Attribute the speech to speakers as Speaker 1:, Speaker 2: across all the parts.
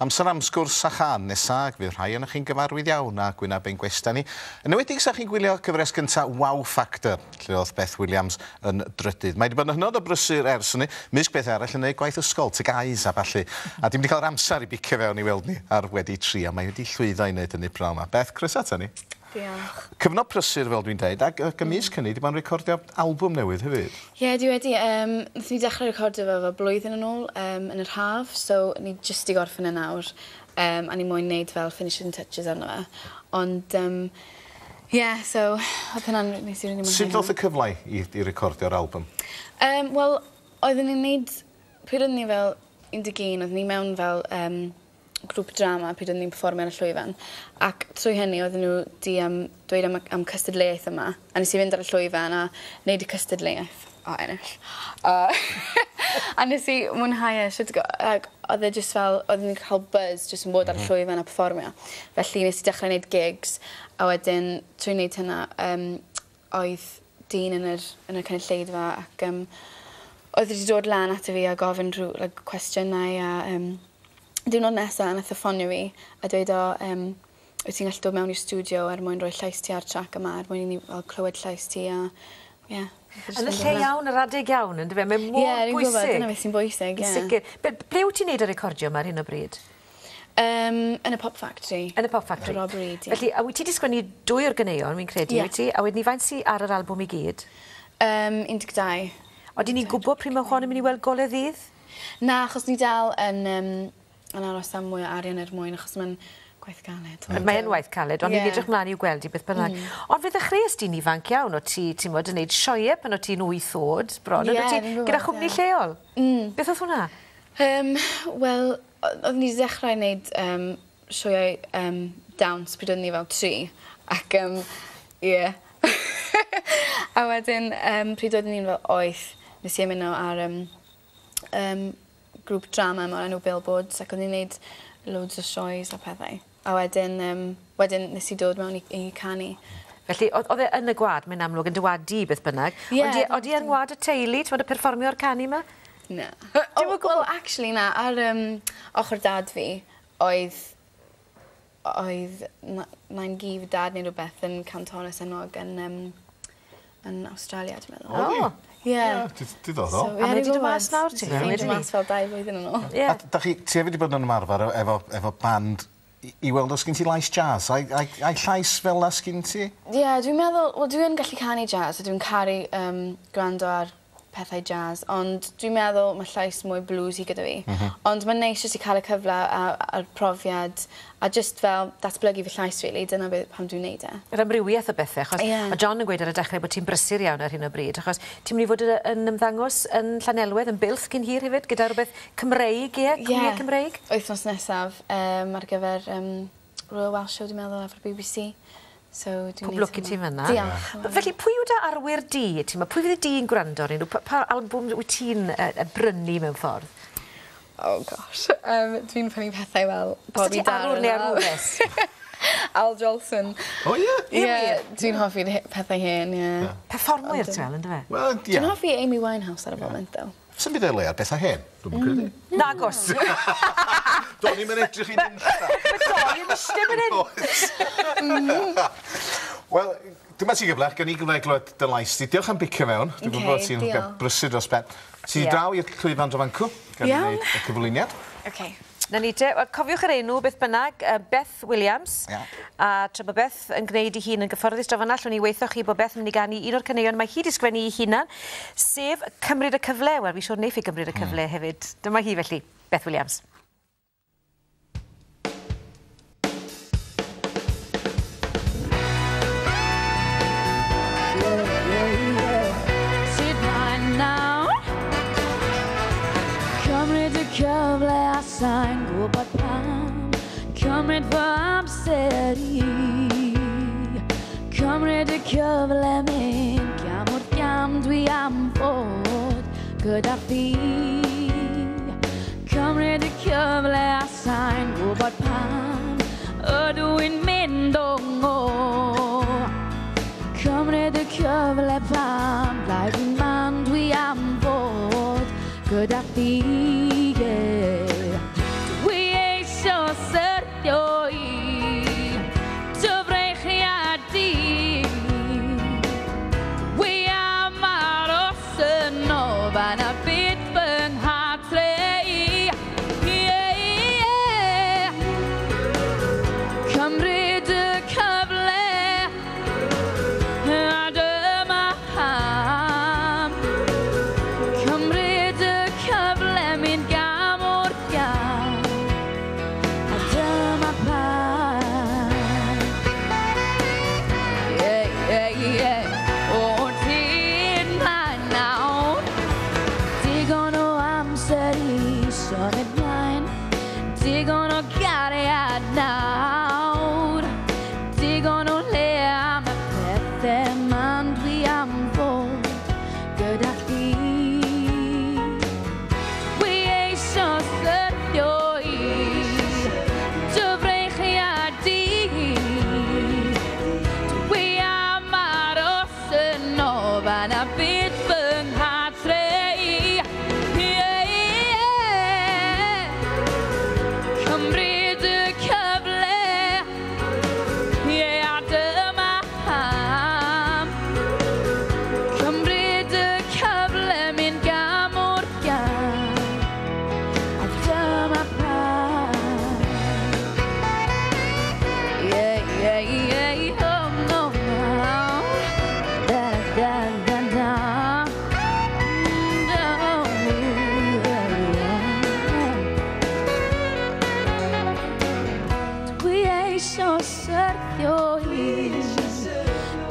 Speaker 1: Amser am sgwrs a chân nesa, ac fydd rhai ohonoch chi'n gyfarwydd iawn â gwyneb ein gwestai ni. Yn enwedig 'sa chi'n gwylio cyfres gynta Wow Factor, lle o'dd Beth Williams yn drydydd. Mae 'di bod yn hynod o brysur ers hynny, mysg pethau arall yn neud gwaith ysgol, TGAUs a ballu. A dim 'di cael yr amser i bicio fewn i weld ni ar Wedi Tri, ond mae wedi llwyddo i wneud hynny pnawn 'ma. Beth, croeso ata ni.
Speaker 2: Diolch.
Speaker 1: Cyfnod prysur fel dwi'n deud, ac ac ymysg hynny 'di bod yn recordio albwm newydd hefyd.
Speaker 2: Ie dwi wedi yym nathon ni dechre recordio fe fel blwyddyn yn ôl yym yn yr haf so ni jyst 'di gorffen e nawr yym a ni moyn neud fel finishing touches arno fe ond yym ie so odd hwnna'n nes i rili mwynhau.
Speaker 1: Sut ddoth y cyfle i i recordio'r albwm?
Speaker 2: Yym wel oeddwn i'n neud pryd oeddwn i fel 11 oeddwn i mewn fel yym grŵp drama pryd oeddwn i'n perfformio ar y llwyfan ac trwy hynny oedden nhw 'di yym dweud am y am cystadleuaeth yma a nes i fynd ar y llwyfan a neud y cystadleuaeth a ennill. A a nes i mwynhau e shwt go- ag o'dd e jyst fel oeddwn i'n ca'l buzz jyst yn bod ar y llwyfan a perfformio. Felly nes i dechre neud gigs a wedyn trwy neud hynna yym oedd dyn yn yr yn y cynulleidfa ac yym oedd wedi dod lan ato fi a gofyn rhyw like cwestiynau a yym diwrnod nesa nath e ffonio fi a dweud o yym wyt ti'n gallu dod mewn i'r stiwdio er mwyn rhoi llais ti ar trac yma er mwyn i ni fel clywed llais ti a ie.
Speaker 3: Yn y lle iawn ar adeg iawn yndyfe? Mae mor bwysig.
Speaker 2: Ie fi'n gwybod dyna beth sy'n bwysig ie.
Speaker 3: Yn sicir. Be- ble wyt ti'n neud y recordio 'ma ar hyn o bryd?
Speaker 2: Yym yn y Pop Factory.
Speaker 3: Yn y Pop Factory.
Speaker 2: Rob Reid ie.
Speaker 3: Felly a wyt ti 'di sgwennu dwy o'r ganeuon wi'n credu...
Speaker 2: Ie.
Speaker 3: ...wyt ti? A wedyn 'ny faint sy ar yr albwm i gyd?
Speaker 2: Yym 12.
Speaker 3: Odyn ni'n gwbo pryd ma' hon yn myn' i weld gole ddydd?
Speaker 2: Na achos ni dal yn yym yn aros am mwy o arian er mwyn achos ma'n gwaith galed.
Speaker 3: Ond mae yn waith caled ond ni'n edrych mlan i'w gweld 'i beth bynnag. Ond fe ddechreues di'n ifanc iawn o't ti timod yn neud sioee pan o't ti'n wyth o'd bron on'd o't ti? Gyda chwmni lleol?
Speaker 2: Mm.
Speaker 3: Beth o'dd hwnna?
Speaker 2: Yym wel oddwn i 'di dechrau neud yym sioeau yym dawns pryd oeddwn i fel tri ac yym ie. A wedyn yym pryd oeddwn i'n fel wyth nes i ymuno ar yym yym grŵp drama 'ma o'r enw Billboards ac o'n i'n neud loads o sioes a pethau. A wedyn yym wedyn nes i dod mewn i i canu.
Speaker 3: Felly o'dd o'dd e yn y gwa'd mae'n amlwg yn dy wa'd di beth bynnag.
Speaker 2: Ie.
Speaker 3: Odi e odi e yng ngwa'd y teulu t'mod y perfformio a'r canu 'ma?
Speaker 2: Na.
Speaker 3: Dim o gwbwl?
Speaker 2: Wel actually na ar yym ochor dad fi oedd oedd na- nain gi fi dad neu rwbeth yn cantores enwog yn yym yn Awstralia dwi meddwl.
Speaker 1: O'dd 'i?
Speaker 3: O!
Speaker 2: Ie.
Speaker 1: Ie didd- diddorol.
Speaker 2: So
Speaker 3: A mae 'di do' mas nawr ti'n meddwl
Speaker 2: Ffeindio mas fel dau flwyddyn yn ôl.
Speaker 3: Ie.
Speaker 1: A 'dach chi ti hefyd 'di bod yn ymarfer e- efo efo band i i weld os gin ti lais jazz ai ai ai llais fel 'na sgin ti?
Speaker 2: Ie dwi'n meddwl wel dwi yn gallu canu jazz a dwi'n caru yym gwrando ar pethau jazz ond dwi'n meddwl ma' llais mwy bluesy gyda fi.
Speaker 1: M-hm.
Speaker 2: Ond ma'n neis jyst i ca'l y cyfle a a'r profiad a jyst fel datblygu fy llais rili dyna be- pam dwi'n neud e.
Speaker 3: Yr amrywieth o bethe achos...
Speaker 2: Ie.
Speaker 3: ...o' John yn gweud ar y dechre bod ti'n brysur iawn ar hyn o bryd achos ti'n myn' i fod yy yn ymddangos yn Llanelwedd yn Builth cyn hir hefyd gyda rwbeth Cymreig ie? Cwmnie Cymreig?
Speaker 2: Wythnos nesaf yym ar gyfer yym Royal Welsh Show dwi meddwl efo'r Bee Bee See. So dwi'n
Speaker 3: Pob lwc i ti fyn 'na.
Speaker 2: Diolch.
Speaker 3: Felly pwy yw dy arwyr di t'mo' pwy fyddi di'n gwrando arnyn n'w pa pa albwm wyt ti'n yy yy brynu mewn ffordd?
Speaker 2: Oh gosh yym dwi'n prynu pethau fel
Speaker 3: Os
Speaker 2: Bobby
Speaker 3: ti arwr neu
Speaker 2: Darin a
Speaker 3: arwres?
Speaker 2: Al Jolson.
Speaker 1: O ie?
Speaker 2: Ie dwi'n hoffi'r he- pethau hen ie.
Speaker 3: Perfformwyr ti fel yndyfe?
Speaker 1: Wel ie.
Speaker 2: Dwi'n hoffi Amy Winehouse ar y foment ddo.
Speaker 1: Sdim byd o'i le ar betha hen, dwi'm yn credu.
Speaker 3: Nagos.
Speaker 1: Do'n i'm yn edrych i nunlla.
Speaker 3: Ma' doi yn iste fyn 'yn.
Speaker 1: Oes. Wel, dyma ti gyfle, gawn ni gyfle i glywed dy lais di. Diolch am bicio fewn. Dwi'n gwybod bod ti'n brysur dros ben. Ti draw i'r llwyfan draw fan 'cw. Gawn ni neud y cyflwyniad.
Speaker 2: Oce.
Speaker 3: 'Na ni te. Wel cofiwch yr enw beth bynnag yy Beth Williams.
Speaker 1: Ia.
Speaker 3: A tra bo' Beth yn gneud 'i hun yn gyfforddus draw fan 'na allwn i weutho chi bo' Beth yn myn' i ganu un o'r caneuon mae hi 'di sgwennu 'i hunan sef Cymryd y Cyfle. Wel fi siŵr neiff 'i gymryd y cyfle hefyd. Dyma hi felly, Beth Williams.
Speaker 4: Sut mae nawr? Cymryd y cyfle a sai'n gwybod pam Cymryd fy amser i Cymryd y cyfle mynd gam wrth gam dwi am fod gyda thi Cymryd y cyfle a sai'n gwybod pam Ydw i'n mynd o ngô Cymryd y cyfle pam Lai fi'n man dwi am fod gyda thi yeah. Dwi eisiau syrthio i dy freichiau di. Dwi am aros yno fan a bydd fy nghartre i. Yeah, yeah. Cymryd y cyfle a dyma pam. Cymryd y cyfle, mynd gam wrth gam, a dyma pam. Yeah, yeah, yeah. O, ti'n ma nawr. Digon o amser i symud mlaen, digon o gariad nawr, digon o le am y pethau man dwi am fod gyda chdi. Dwi eisio syrthio i dy freichiau di. Dwi am aros yno fan a bydd fy nghartre i. Yeah, yeah. Cymryd y cyfle, yeah, a dyma pam. Cymryd y cyfle, mynd gam wrth gam, a dyma pam. Yeah, yeah, yeah, oh, no, no. Da, da, da, da. Oh, yeah. Dwi eisio syrthio i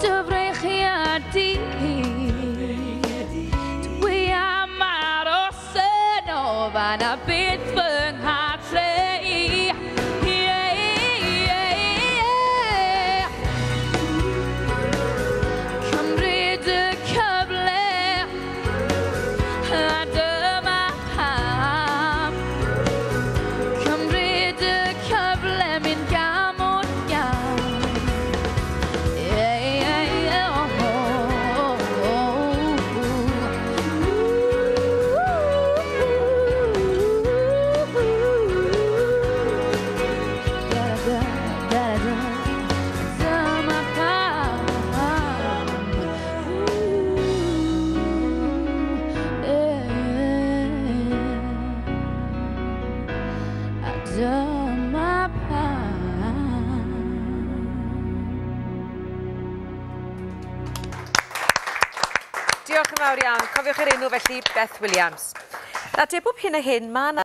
Speaker 4: dy freichiau di. Dwi am aros yno fan a bydd fy nghartre i. Yeah, yeah, yeah. Cymryd y cyfle a dyma pam. Cymryd y cyfle, mynd gam wrth gam. Yeah, yeah, yeah, oh, oh, oh, oh. Da, da, da, da. Dyma pam. Ooh, yeah. A dyma pam.
Speaker 3: Diolch yn fawr iawn. Cofiwch yr enw felly, Beth Williams. Na, te bob hyn a hyn, mae yna